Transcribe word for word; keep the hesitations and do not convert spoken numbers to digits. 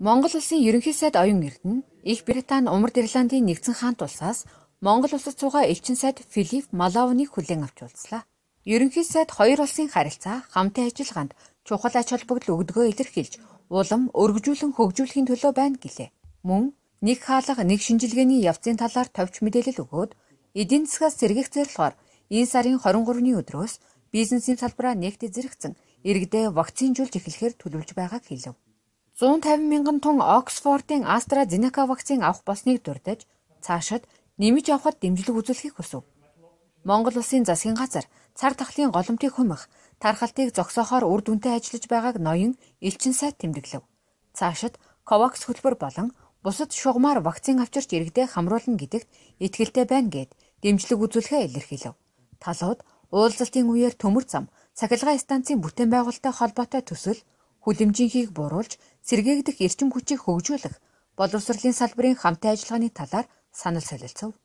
Монгол улсын ерөнхий сайд оюун эрдэнэ Их Британи Умард Ирландын нэгдсэн хаант улсаас Монгол улсад суугаа элчин сайд Филипп Малавныг хүлээн авч уулзлаа. Ерөнхий сайд хоёр улсын харилцаа, хамтын ажиллагаанд чухал ач холбогдол өгдөгөө илэрхийлж, улам өргөжүүлэн хөгжүүлэхийн төлөө байна гэлээ. Мөн нэг хаалга, нэг шинжилгээний явцын талаар товч мэдээлэл өгөөд, эдийн засгаас сэргийх зорилгоор энэ сарын хорин гуравны өдрөөс бизнесийн салбараа нэгт зэрэгцэн иргэдээ вакцинжуулж эхлэхээр төлөвлөж байгааг хэлв. зуун тавин мянган тонн Оксфордын AstraZeneca вакцин авах болсныг дурдж, цаашид нэмж авахд дэмжлэг үзүүлэхийг хүсв. Монгол улсын засгийн газар цар тахлын голомтыг хумих, тархалтыг зогсоохоор үр дүнтэй ажиллаж байгааг ноён элчин сайд тэмдэглэв. Цаашид Ковакс хөтөлбөр болон бусад шугамар вакцин авчирч иргэдээ хамруулна гэдэгт итгэлтэй байна гэд дэмжлэг үзүүлэхээ илэрхийлв. Талууд уулзалтын үеэр төмөр зам, цахилгаан станцын бүтээн байгуулалттай холбоотой төсөл, хүлэмжийнхийг бууруулж сэргээгдэх эрчим хүчийг хөгжүүлэх, боловсролын салбарын хамтын ажиллагааны талаар санал солилцов.